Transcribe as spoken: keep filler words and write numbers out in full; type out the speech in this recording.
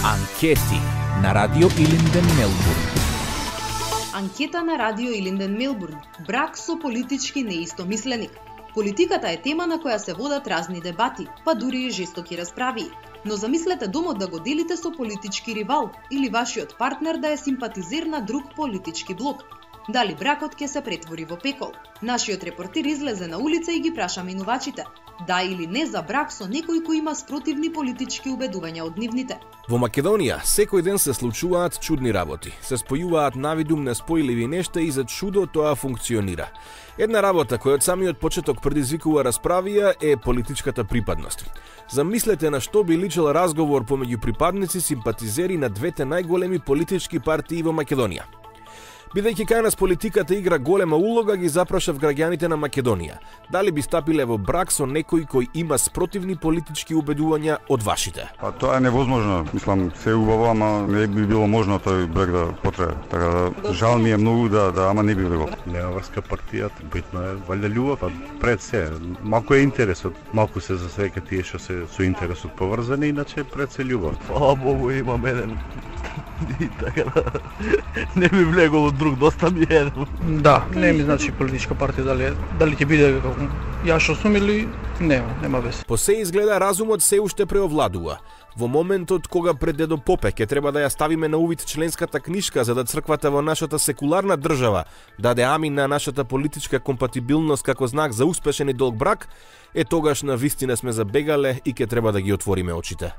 Анкети на Радио Илинден Мелбурн. Анкета на Радио Илинден Мелбурн. Брак со политички неистомисленик. Политиката е тема на која се водат разни дебати, па дури и жестоки расправи. Но замислете домот да го делите со политички ривал или вашиот партнер да е симпатизер на друг политички блок. Дали бракот ќе се претвори во пекол? Нашиот репортер излезе на улица и ги праша минувачите. Да или не за брак со некој кој има спротивни политички убедувања од нивните. Во Македонија секој ден се случуваат чудни работи. Се спојуваат навидум неспојливи нешта и за чудо тоа функционира. Една работа која од самиот почеток предизвикува расправија е политичката припадност. Замислете на што би личел разговор помеѓу припадници симпатизери на двете најголеми политички партии во Македонија. Бидејќи кај нас политиката игра голема улога, ги запрашав граѓаните на Македонија. Дали би стапиле во брак со некој кој има спротивни политички убедувања од вашите? Па тоа е невозможно. Мислам, се убаво, ама не би било можно тој брак да потрае. Така да жал ми е многу да, да ама не би го. Нема врска партијата, битно е валја љубов, а пред се малку е интересот, малку се засека тие што се со интересот поврзани, иначе пред се љубов. Фала Богу, имам еден и така да не ми влегол од друг, доста ми е. Да, не ми значи политичка партија дали дали ќе биде како ја што сум или нема, нема вез. По се изгледа разумот се уште преовладува. Во моментот кога пред дедо Попе ќе треба да ја ставиме на увид членската книшка за да црквата во нашата секуларна држава даде амин на нашата политичка компатибилност како знак за успешен и долг брак, е тогаш на вистина сме забегале и ќе треба да ги отвориме очите.